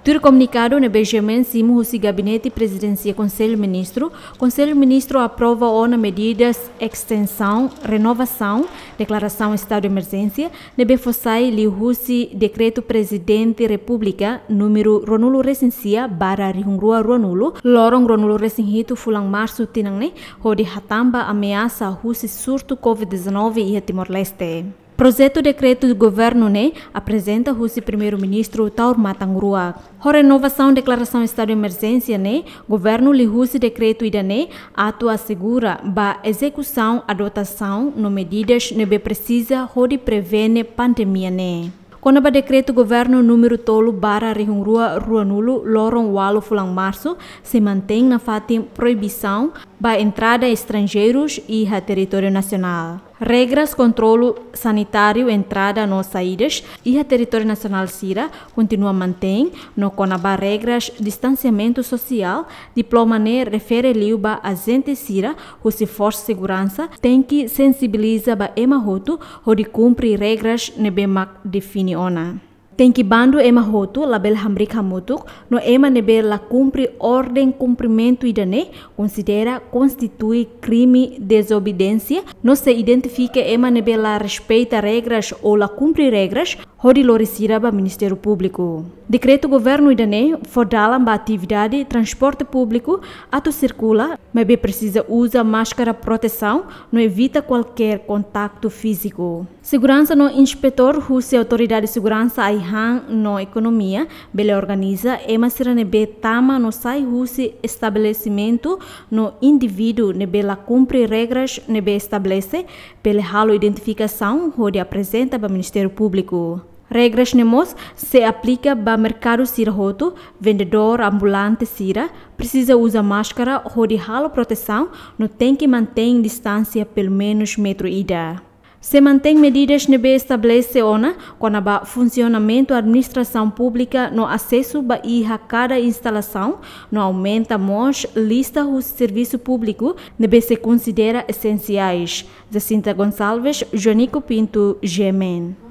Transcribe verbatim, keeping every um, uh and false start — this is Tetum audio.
Tuir komunikadu ne'ebé GMN simu husi Gabinete Prezidénsia Konsellu Ministru, Konsellu Ministru aprova ona medidas estensaun, renovasaun, deklarasaun estadu de emerjénsia ne'ebé fó sai liuhusi Dekretu Prezidente Repúblika númeru ruanulu-resin-sia barra rihun rua ruanulu, loron ruanulu-resin-hitu fulan Marsu tinan ne'e, hodi hatán ba ameasa husi surtu COVID dezanove iha Timor-Leste. Projetu dekretu governu ne'e aprezenta husi Primeiru-Ministru Taur Matan Ruak. Ho renovasaun deklarasaun estadu de emerjénsia ne'e, governu liuhusi dekretu ida-ne'e atu asegura ba ezekusaun adotasaun no medidas ne'ebé presiza hodi prevene pandemia ne'e. Kona-ba dekretu governu númeru tolu barra rihun rua ruanulu, loron ualu fulan Marsu, sei mantein nafatin proibisaun ba entrada estranjeirus iha territóriu nasionál. Regras kontrolu sanitáriu entrada no saídas iha territóriu nasionál sira kontinua mantein, no kona-ba regras distansiamentu sosiál, diploma ne'e refere liu ba ajente sira husi forsa seguransa tenke sensibiliza ba ema hotu hodi kumpre regras ne'ebé mak define ona. Tenke bandu ema hotu labele hamriik hamutuk, no ema ne'ebé la kumpre orden kumprimentu ida-ne'e konsidera konstitui krime dezobediénsia, no sei identifika ema ne'ebé la respeita regras ou la kumpre regras, hodi lori sira ba Ministériu Públiku. Dekretu governu ida-ne'e fó dalan ba atividade transporte públiku atu sirkula, maibé presiza uza máskara protesaun no evita kualkér kontaktu fíziku. Seguransa no inspetór husi Autoridade Seguransa Ai-han no Ekonomia bele organiza ema sira ne'ebé tama no sai husi estabelesimentu no indivíduu ne'ebé la kumpre regras ne'ebé estabelese bele halo identifikasaun hodi aprezenta ba Ministériu Públiku. Regras ne'e mós sei aplika ba merkadu sira hotu, vendedór ambulante sira presiza uza máskara hodi halo protesaun no tenke mantein distánsia pelumenus metru ida. Sei mantein medidas ne'ebé estabelese ona kona-ba funsionamentu administrasaun públika no asesu ba iha kada instalasaun, no aumenta mós lista husi servisu públiku ne'ebé sei konsidera esensiais. Jacinta Gonçalves, Joanico Pinto, GMN.